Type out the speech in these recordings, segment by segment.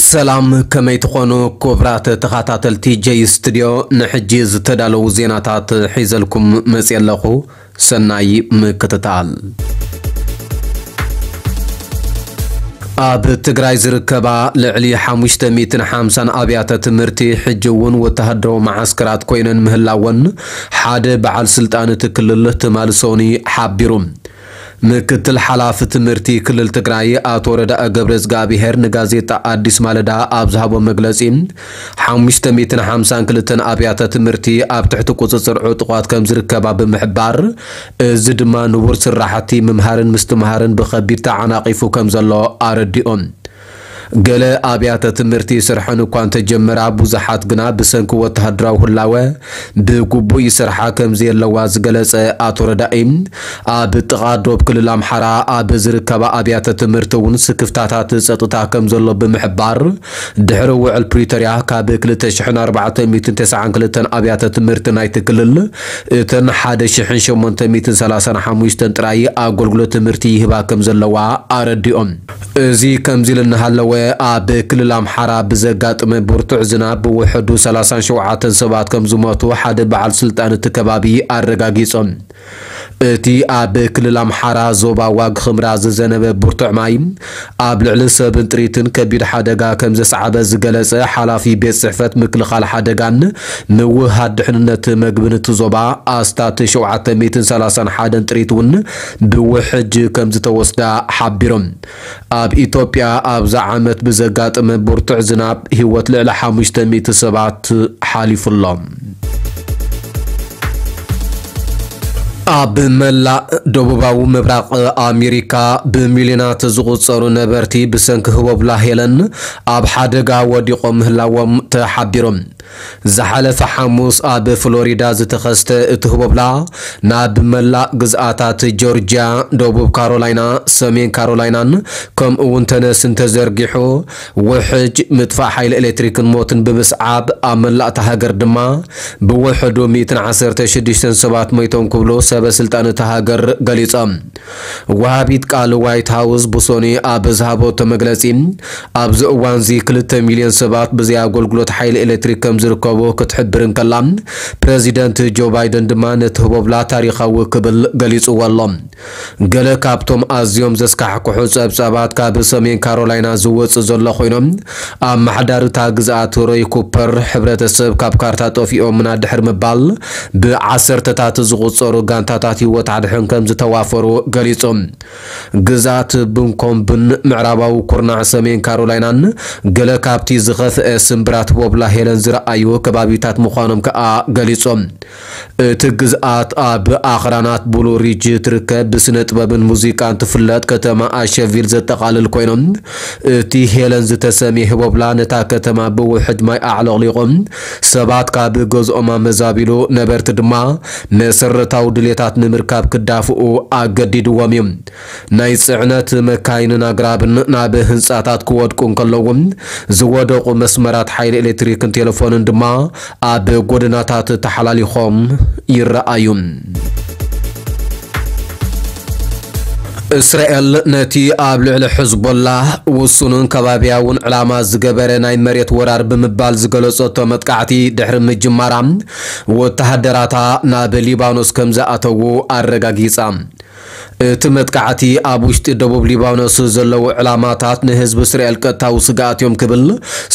ሰላም፣ ከመይ ትኾኑ ክቡራት ተኸታተልቲ ጀይ ስቱድዮ? ንሕጂ ዝተዳለዉ ዜናታት ሒዘልኩም መፅየ ኣለኹ። ሰናይ ምክትታል። ኣብ ትግራይ ዝርከባ ልዕሊ ሓሙሽተ ሚእትን ሓምሳን ኣብያተ ትምህርቲ ሕጂ እውን ወተሃደራዊ መዓስከራት ኮይነን ምህላወን ሓደ በዓል ስልጣን እቲ ክልል ትማሊ ሰኑይ ሓቢሩ። ምክትል ሓላፊ ትምህርቲ ክልል ትግራይ ኣቶ ረዳኢ ገብረ እግዚኣብሔር ንጋዜጣ ኣዲስ ማለዳ ኣብ ዝሃቦ መግለጺ፣ ሓሙሽተ ሚእትን ሓምሳን ክልተን ኣብያተ ትምህርቲ ኣብ ትሕቲ ቁጽጽር ዕጡቓት ከም ዝርከባ ብምሕባር፣ እዚ ድማ ንቡር ስራሕቲ ምምሃርን ምስትምሃርን ብኸቢድ ተዓናቒፉ ከም ዘሎ ኣረዲኦም። ገለ ኣብያተ ትምህርቲ ስርሐን እኳ እንተጀመራ፣ ብዙሓት ግና ብሰንኪ ወተሃደራዊ ህላወ ብግቡእ ይሰርሓ ከም ዘየለዋ ዝገለጸ ኣቶ ረዳኢ፣ ኣብ ጥቓ ዶብ ክልል ኣምሓራ ኣብ ዝርከባ ኣብያተ ትምህርቲ እውን ስክፍታታት ጸጥታ ከም ዘሎ ብምሕባር፣ ድሕሪ ውዕል ፕሪቶርያ ካብ ክልተ ሽሕን ኣርባዕተ ሚእትን ተስዓን ክልተን ኣብያተ ትምህርቲ ናይቲ ክልል እተን ሓደ ሽሕን ሸሞንተ ሚእትን ሰላሳን ሓሙሽተን ጥራይ ኣገልግሎት ትምህርቲ ይህባ ከም ዘለዋ ኣረዲኦም። እዚ ከምዚ ኢሉ እናሃለወ፣ ኣብ ክልል ኣምሓራ ብዘጋጠመ ብርቱዕ ዝናብ ብውሕዱ ሰላሳን ሸውዓተን ሰባት ከም ዝሞቱ ሓደ በዓል ስልጣን እቲ ከባቢ ኣረጋጊጾም። እቲ ኣብ ክልል ኣምሓራ ዞባ ዋግ ኽምራ ዝዘነበ ብርቱዕ ማይ ኣብ ልዕሊ ሰብን ጥሪትን ከቢድ ሓደጋ ከም ዘስዓበ ዝገለጸ ሓላፊ ቤት ጽሕፈት ምክልኻል ሓደጋን ምውህሃድ ድሕንነት መግብን እቲ ዞባ፣ ኣስታት ሸውዓተ ሚእትን ሰላሳን ሓደን ጥሪት እውን ብውሕጅ ከም ዝተወስዳ ሓቢሮም። ኣብ ኢትዮጵያ ኣብዚ ዓመት ብዘጋጠመ ብርቱዕ ዝናብ ህይወት ልዕሊ ሓሙሽተ ሚእቲ ሰባት ሓሊፉ ኣሎ። ኣብ መላእ ደቡባዊ ምብራቕ ኣሜሪካ ብሚልዮናት ዝቑጸሩ ነበርቲ ብሰንኪ ህቦብላ ሄለን ኣብ ሓደጋ ወዲቖም ምህላዎም ተሓቢሮም። ዝሓለፈ ሓሙስ ኣብ ፍሎሪዳ ዝተኸስተ እቲ ህቦብላ ናብ መላእ ግዝኣታት ጆርጅያ፣ ደቡብ ካሮላይና፣ ሰሜን ካሮላይናን ከምኡ እውን ተነስን ተዘርጊሑ ውሕጅ ምጥፋእ ሓይሊ ኤሌክትሪክን ሞትን ብምስዓብ ኣብ መላእ እታ ሃገር ድማ ብውሕዱ ሚእትን ዓሰርተ ሽዱሽተን ሰባት ሞይቶም ክብሉ ሰበ ስልጣን እታ ሃገር ገሊጾም። ወሃቢት ቃል ዋይት ሃውስ ብሶኒ ኣብ ዝሃበቶ መግለጺ፣ ኣብዚ እዋንዚ ክልተ ሚልዮን ሰባት ብዘይ ኣገልግሎት ሓይሊ ኤሌክትሪክ ከም ዝርከቡ ክትሕብር እንከላ፣ ፕረዚደንት ጆ ባይደን ድማ ነቲ ህቦብላ ታሪኻዊ ክብል ገሊጽዎ ኣሎ። ገለ ካብቶም ኣዝዮም ዘስካሕክሑ ጸብጻባት ካብ ሰሜን ካሮላይና ዝወጽእ ዘሎ ኮይኖም፣ ኣመሓዳሪ እታ ግዝኣት ሮይ ኩፐር፣ ሕብረተሰብ ካብ ካርታ ጠፊኦምና ድሕሪ ምባል፣ ብዓሰርተታት ዝቑጸሩ ጋንታታት ህይወት ኣድሕን ከም ዝተዋፈሩ ገሊጹ። ግዝኣት ብንኮምብን ምዕራባዊ ኩርናዕ ሰሜን ካሮላይናን ገለ ካብቲ ዝኸፍአ ስምብራት ቦብላ ሄለን ዝረኣዩ ከባቢታት ምዃኖም ከኣ ገሊጾም። እቲ ግዝኣት ኣብ ኣኽራናት ብሉ ሪጅ ትርከብ፣ ብስነ ጥበብን ሙዚቃን ትፍለጥ ከተማ ኣሸቪል ዘጠቓልል ኮይኖም፣ እቲ ሄለን ዝተሰምየ ህቦብላ ነታ ከተማ ብውሕጅ ማይ ኣዕለቕሊቖም፣ ሰባት ካብ ገዝኦም ኣመዛቢሉ፣ ነበርቲ ድማ መሰረታዊ ድሌታት ንምርካብ ክዳፍኡ ኣገዲድዎም እዩ። ናይ ጽዕነት መካይንን ኣግራብን ናብ ህንጻታት ክወድቁ እንከለዉ፣ ዝወደቑ መስመራት ሓይሊ ኤሌክትሪክን ቴሌፎንን ድማ ኣብ ጎደናታት ተሓላሊኾም ይረኣዩ። እስራኤል ነቲ ኣብ ልዕሊ ሕዝቦላህ ውሱንን ከባብያውን ዕላማ ዝገበረ ናይ መሬት ወራር ብምባል ዝገለጸቶ መጥቃዕቲ ድሕሪ ምጅማራ፣ ወተሃደራታ ናብ ሊባኖስ ከም ዝኣተዉ ኣረጋጊጻ። እቲ መጥቃዕቲ ኣብ ውሽጢ ደቡብ ሊባኖስ ዘለዉ ዕላማታት ንህዝቢ እስራኤል ቀጥታዊ ስግኣት እዮም ክብል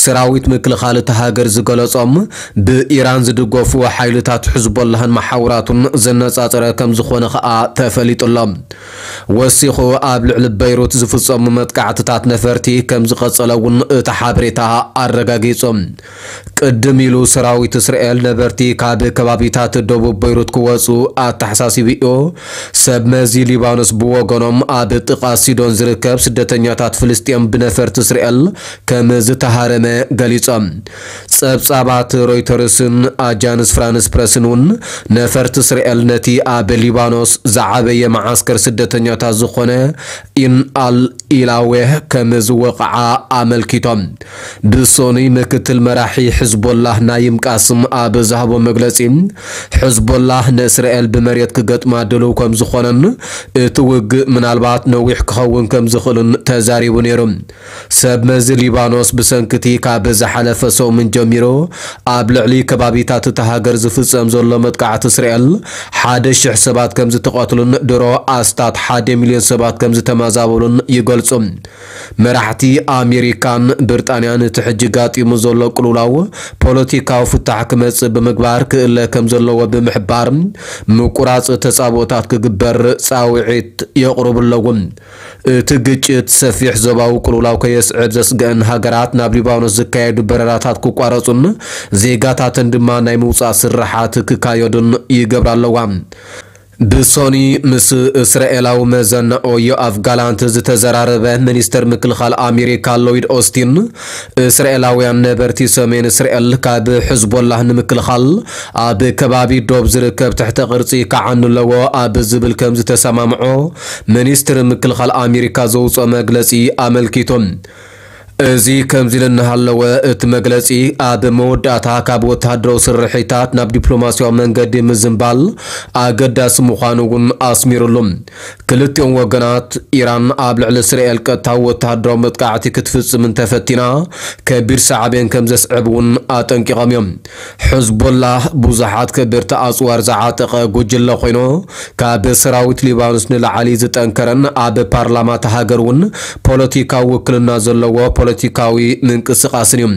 ሰራዊት ምክልኻል እታ ሃገር ዝገለጾም፣ ብኢራን ዝድገፉ ሓይልታት ሕዝቦላህን መሓውራቱን ዘነጻጸረ ከም ዝኾነ ከኣ ተፈሊጡ ኣሎ። ወሲኹ ኣብ ልዕሊ በይሩት ዝፍጸሙ መጥቃዕትታት ነፈርቲ ከም ዝቐጸለ እውን እቲ ሓበሬታ ኣረጋጊጹ። ቅድም ኢሉ ሰራዊት እስራኤል ነበርቲ ካብ ከባቢታት ደቡብ በይሩት ክወጹ ኣተሓሳሲቡ እዩ። ሰብ መዚ ሊባኖስ ብወገኖም ኣብ ጥቓ ሲዶን ዝርከብ ስደተኛታት ፍልስጤም ብነፈርቲ እስራኤል ከም ዝተሃረመ ገሊጾም። ጸብጻባት ሮይተርስን ኣጃንስ ፍራንስ ፕረስን እውን ነፈርቲ እስራኤል ነቲ ኣብ ሊባኖስ ዝዓበየ መዓስከር ስደተኛታት ዝኾነ ዝኾነ ኢን ኣል ኢላዌህ ከም ዝወቕዓ ኣመልኪቶም። ብሶኒ ምክትል መራሒ ሕዝቦላህ ናይም ቃስም ኣብ ዝሃቦ መግለጺ፣ ሕዝቦላህ ንእስራኤል ብመሬት ክገጥማ ድልው ከም ዝኾነን እቲ ውግእ ምናልባት ነዊሕ ክኸውን ከም ዝኽእልን ተዛሪቡ ነይሩ። ሰብ መዚ ሊባኖስ ብሰንክቲ ካብ ዝሓለፈ ሰሙን ጀሚሩ ኣብ ልዕሊ ከባቢታት እታ ሃገር ዝፍጸም ዘሎ መጥቃዕቲ እስራኤል ሓደ ሽሕ ሰባት ከም ዝተቐትሉን ድሮ ኣስታት ሓደ ሚልዮን ሰባት ከም ዝተመዛበሉን ይገልጹ። መራሕቲ ኣሜሪካን ብሪጣንያን እቲ ሕጂ ጋጢሙ ዘሎ ቅልውላው ፖለቲካዊ ፍታሕ ክመጽእ ብምግባር ክእለ ከም ዘለዎ ብምሕባር ምቁራጽ ተጻብኦታት ክግበር ጻውዒት የቕርቡ ኣለዉ። እቲ ግጭት ሰፊሕ ዞባዊ ቅልውላው ከየስዕብ ዘስግአን ሃገራት ናብ ሊባኖስ ዝካየዱ በረራታት ክቋረጹን ዜጋታተን ድማ ናይ ምውጻእ ስርሓት ክካየዱን ይገብራ ኣለዋ። ብሶኒ ምስ እስራኤላዊ መዘናኦ ዮኣፍ ጋላንት ዝተዘራረበ ሚኒስተር ምክልኻል ኣሜሪካ ሎይድ ኦስቲን፣ እስራኤላውያን ነበርቲ ሰሜን እስራኤል ካብ ሕዝቦላህ ንምክልኻል ኣብ ከባቢ ዶብ ዝርከብ ትሕተ ቅርጺ ክዓኑ ኣለዎ ኣብ ዝብል ከም ዝተሰማምዖ ሚኒስትሪ ምክልኻል ኣሜሪካ ዘውፅኦ መግለፂ ኣመልኪቱ። እዚ ከምዚ ኢሉ እናሃለወ፣ እቲ መግለፂ ኣብ መወዳእታ ካብ ወተሃደራዊ ስርሒታት ናብ ዲፕሎማሲያዊ መንገዲ ምዝንባል ኣገዳሲ ምዃኑ እውን ኣስሚሩሉ። ክልቲኦም ወገናት፣ ኢራን ኣብ ልዕሊ እስራኤል ቀጥታዊ ወተሃደራዊ መጥቃዕቲ ክትፍጽም እንተፈቲና፣ ከቢድ ሳዕቤን ከም ዘስዕብ እውን ኣጠንቂቖም እዮም። ሕዝቦላህ ብዙሓት ከበድቲ ኣጽዋር ዝዓጠቐ ጉጅለ ኮይኑ፣ ካብ ሰራዊት ሊባኖስ ንላዕሊ ዝጠንከረን ኣብ ፓርላማ እታ ሃገር እውን ፖለቲካዊ ውክልና ዘለዎ ፖለቲካዊ ምንቅስቓስን እዩ።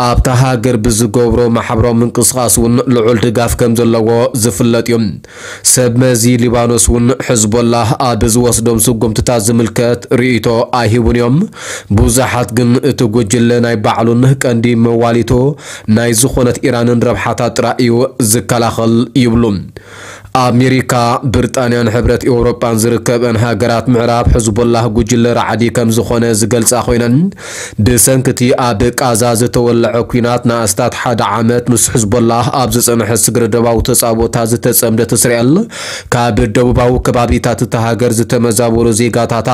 ኣብታ ሃገር ብዝገብሮ ማሕበራዊ ምንቅስቓስ እውን ልዑል ድጋፍ ከም ዘለዎ ዝፍለጥ እዩ። ሰብ መዚ ሊባኖስ እውን ሕዝቦላህ ኣብ ዝወስዶም ስጉምትታት ዝምልከት ርእይቶ ኣይህቡን እዮም። ብዙሓት ግን እቲ ጉጅለ ናይ ባዕሉን ቀንዲ መዋሊቱ ናይ ዝኾነት ኢራንን ረብሓታት ጥራይ እዩ ዝከላኸል ይብሉ። ኣሜሪካ፣ ብሪጣንያን ሕብረት ኤውሮጳን ዝርከበን ሃገራት ምዕራብ ሕዝቦላህ ጉጅለ ራዕዲ ከም ዝኾነ ዝገልጻ ኮይነን፣ ብሰንኪ እቲ ኣብ ቃዛ ዝተወለዐ ኲናት ንኣስታት ሓደ ዓመት ምስ ሕዝቦላህ ኣብ ዝጸንሐ ስግረ ዶባዊ ተጻብኦታት ዝተጸምደት እስራኤል፣ ካብ ደቡባዊ ከባቢታት እታ ሃገር ዝተመዛበሉ ዜጋታታ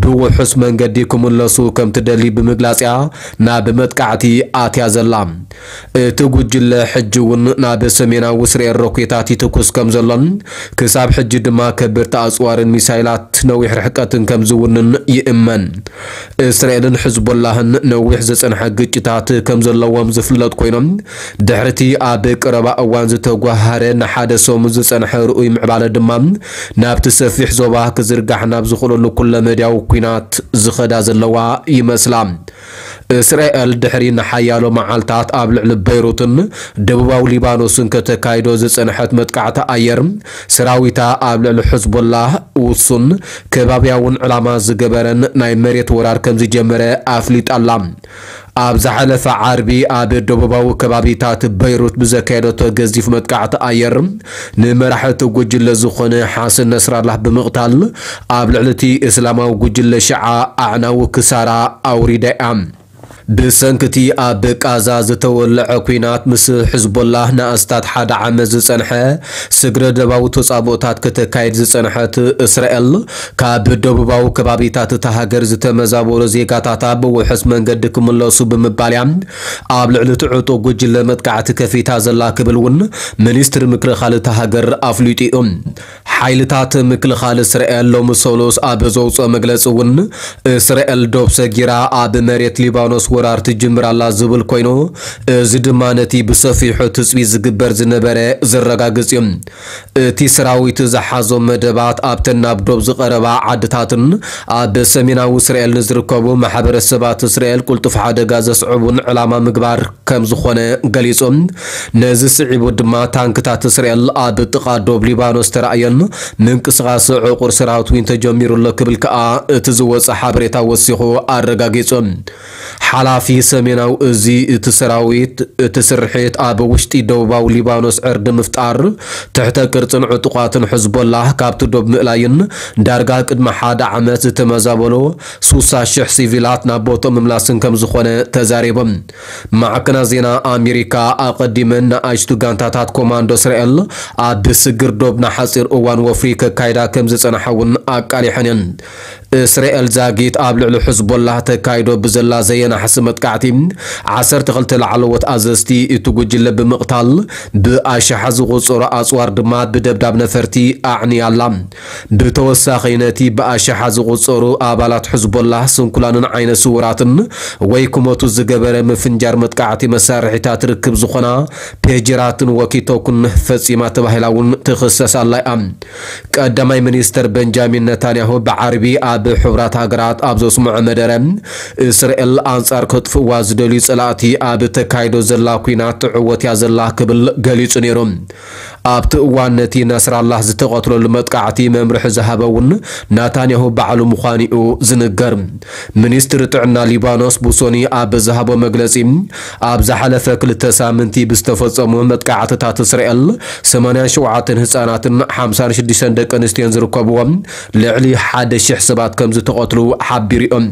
ብውሑስ መንገዲ ክምለሱ ከም ትደሊ ብምግላጽ እያ ናብ መጥቃዕቲ ኣትያ ዘላ። እቲ ጉጅለ ሕጂ እውን ናብ ሰሜናዊ እስራኤል ሮኬታት ይትኩስ ከም ዘሎን ክሳብ ሕጂ ድማ ከበድቲ ኣጽዋርን ሚሳይላት ነዊሕ ርሕቀትን ከም ዝውንን ይእመን። እስራኤልን ሕዝቦላህን ነዊሕ ዝጸንሐ ግጭታት ከም ዘለዎም ዝፍለጥ ኮይኖም፣ ድሕርቲ ኣብ ቀረባ እዋን ዝተጓሃረ ንሓደ ሰሙን ዝጸንሐ ርኡይ ምዕባለ ድማ ናብቲ ሰፊሕ ዞባ ክዝርጋሕ ናብ ዝኽእለሉ ኩለመዳያዊ ኲናት ዝኸዳ ዘለዋ ይመስላ። እስራኤል ድሕሪ ንሓያሎ መዓልታት ኣብ ልዕሊ በይሩትን ደቡባዊ ሊባኖስን ከተካይዶ ዝጸንሐት መጥቃዕቲ ኣየር፣ ሰራዊታ ኣብ ልዕሊ ሕዝቦላህ ውሱን ከባብያውን ዕላማ ዝገበረን ናይ መሬት ወራር ከም ዝጀመረ ኣፍሊጣ ኣላ። ኣብ ዝሓለፈ ዓርቢ ኣብ ደቡባዊ ከባቢታት በይሩት ብዘካየደቶ ገዚፍ መጥቃዕቲ ኣየር፣ ንመራሒ እቲ ጉጅለ ዝኾነ ሓሰን ነስራላህ ብምቕታል፣ ኣብ ልዕሊ እቲ እስላማዊ ጉጅለ ሽዓ ኣዕናዊ ክሳራ ኣውሪዳ እያ። ብሰንኪ እቲ ኣብ ቃዛ ዝተወለዐ ኲናት፣ ምስ ሕዝቦላህ ንኣስታት ሓደ ዓመት ዝጸንሐ ስግረ ደባዊ ተጻብኦታት ከተካይድ ዝጸንሐት እስራኤል፣ ካብ ደቡባዊ ከባቢታት እታ ሃገር ዝተመዛበሉ ዜጋታታ ብውሑስ መንገዲ ክምለሱ ብምባል እያ ኣብ ልዕሊ እቲ ዕጡቕ ጉጅለ መጥቃዕቲ ከፊታ ዘላ ክብል እውን ሚኒስትሪ ምክልኻል እታ ሃገር ኣፍሊጡ እዩ። ሓይልታት ምክልኻል እስራኤል ሎሚ ሰሉስ ኣብ ዘውፅኦ መግለፂ እውን፣ እስራኤል ዶብ ሰጊራ ኣብ መሬት ሊባኖስ ወራር ትጅምር ኣላ ዝብል ኮይኑ፣ እዚ ድማ ነቲ ብሰፊሑ ትፅቢት ዝግበር ዝነበረ ዘረጋግፅ እዩ። እቲ ሰራዊት ዝሓዞም መደባት ኣብተን ናብ ዶብ ዝቐረባ ዓድታትን ኣብ ሰሜናዊ እስራኤል ንዝርከቡ ማሕበረሰባት እስራኤል ቅልጡፍ ሓደጋ ዘስዕቡን ዕላማ ምግባር ከም ዝኾነ ገሊጹ። ነዚ ስዒቡ ድማ ታንክታት እስራኤል ኣብ ጥቓ ዶብ ሊባኖስ ተራእየን ምንቅስቓስ ዕቑር ሰራዊት እውን ተጀሚሩ ኣሎ ክብል ከኣ እቲ ዝወጸ ሓበሬታ ወሲኹ ኣረጋጊጹ። ሓላ ኣፊ ሰሜናዊ እዚ እቲ ሰራዊት እቲ ስርሒት ኣብ ውሽጢ ደቡባዊ ሊባኖስ ዕርዲ ምፍጣር፣ ትሕተ ቅርጽን ዕጡቓትን ሕዝቦላህ ካብቲ ዶብ ምእላይን ዳርጋ ቅድሚ ሓደ ዓመት ዝተመዛበሉ ሱሳ ሽሕ ሲቪላት ናብ ቦትኦም ምምላስን ከም ዝኾነ ተዛሪቦም። ማዕከናት ዜና ኣሜሪካ ኣቐዲመን ንኣሽቱ ጋንታታት ኮማንዶ እስራኤል ኣብ ስግር ዶብ ንሓጺር እዋን ወፍሪ ከካይዳ ከም ዝጸንሓ እውን ኣቃሊሐን እየን። እስራኤል ዛጊት ኣብ ልዕሊ ሕዝቦላህ ተካይዶ ብዘላ ዘየናሕሲ መጥቃዕቲ ዓሰርተ ክልተ ላዕለዎት ኣዘዝቲ እቲ ጉጅለ ብምቕታል ብኣሽሓ ዝቑጸሩ ኣጽዋር ድማ ብደብዳብ ነፈርቲ ኣዕንያ ኣላ። ብተወሳኺ ነቲ ብኣሽሓ ዝቑጸሩ ኣባላት ሕዝቦላህ ስንኩላንን ዓይነ ስውራትን ወይ ክሞቱ ዝገበረ ምፍንጃር መጥቃዕቲ መሳርሒታት ርክብ ዝኾና ፔጀራትን ወኪቶኩን ፈጺማ ተባሂላ እውን ትኽሰስ ኣላ እያ። ቀዳማይ ሚኒስተር በንጃሚን ነታንያሁ ብዓርቢ ኣብ ሕቡራት ሃገራት ኣብ ዘስምዖ መደረ፣ እስራኤል ኣንጻር ከጥፍእዋ ዝደልዩ ጸላእቲ ኣብ ተካይዶ ዘላ ኲናት ትዕወት እያ ዘላ ክብል ገሊጹ ነይሩ። ኣብቲ እዋን ነቲ ነስራላህ ዝተቐትለሉ መጥቃዕቲ መምርሒ ዝሃበ እውን ናታንያሁ ባዕሉ ምዃኑ እዩ ዝንገር። ሚኒስትሪ ጥዕና ሊባኖስ ቡሶኒ ኣብ ዝሃቦ መግለጺ፣ ኣብ ዝሓለፈ ክልተ ሳምንቲ ብዝተፈጸሙ መጥቃዕትታት እስራኤል ሰማንያን ሸውዓተን ህጻናትን ሓምሳን ሽዱሽተን ደቂ ኣንስትዮን ዝርከብዎም ልዕሊ ሓደ ሽሕ ሰባት ከም ዝተቐትሉ ሓቢሩ እዮም።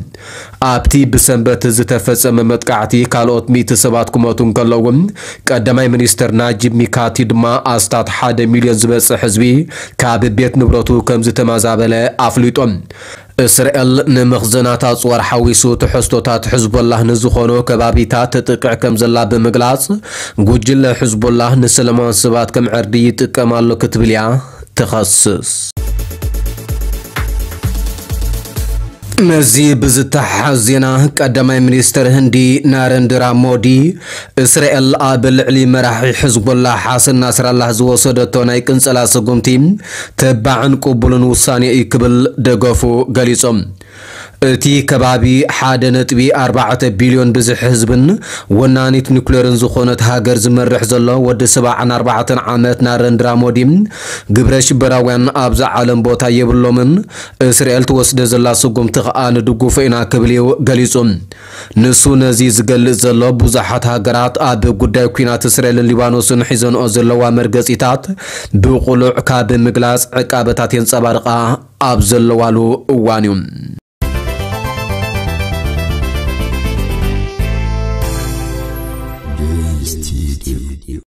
ኣብቲ ብሰንበት ዝተፈጸመ መጥቃዕቲ ካልኦት ሚእቲ ሰባት ክሞቱ እንከለዉ፣ ቀዳማይ ሚኒስትር ናጂብ ሚካቲ ድማ ኣስታት ሓደ ሚልዮን ዝበጽሕ ህዝቢ ካብ ቤት ንብረቱ ከም ዝተመዛበለ ኣፍሊጦም። እስራኤል ንመኽዘናት ኣጽዋር ሓዊሱ ትሕዝቶታት ሕዝቦላህ ንዝኾኑ ከባቢታት ትጥቅዕ ከም ዘላ ብምግላጽ፣ ጉጅለ ሕዝቦላህ ንሰላማውያን ሰባት ከም ዕርዲ ይጥቀም ኣሎ ክትብል እያ ትኸስስ። ነዚ ብዝተሓሓዝ ዜና፣ ቀዳማይ ሚኒስትር ህንዲ ናረንድራ ሞዲ፣ እስራኤል ኣብ ልዕሊ መራሒ ሕዝቦላህ ሓሰን ናስራላህ ዝወሰደቶ ናይ ቅንጸላ ስጉምቲ ተባዕን ቅቡልን ውሳኔ እዩ ክብል ደገፉ ገሊጾም። እቲ ከባቢ ሓደ ነጥቢ ኣርባዕተ ቢልዮን ብዝሒ ህዝብን ወናኒት ኒኩሌርን ዝኾነት ሃገር ዝመርሕ ዘሎ ወዲ ሰብዓን ኣርባዕተን ዓመት ናረንድራ ሞዲ፣ ግብረ ሽበራውያን ኣብዛ ዓለም ቦታ የብሎምን፣ እስራኤል ትወስደ ዘላ ስጉምቲ ከኣ ንድግፎ ኢና ክብል እዩ ገሊጹ። ንሱ ነዚ ዝገልጽ ዘሎ ብዙሓት ሃገራት ኣብ ጉዳይ ኲናት እስራኤልን ሊባኖስን ሒዘንኦ ዘለዋ መርገጺታት ብቕሉዕ ካብ ምግላጽ ዕቃበታት የንጸባርቓ ኣብ ዘለዋሉ እዋን እዩ።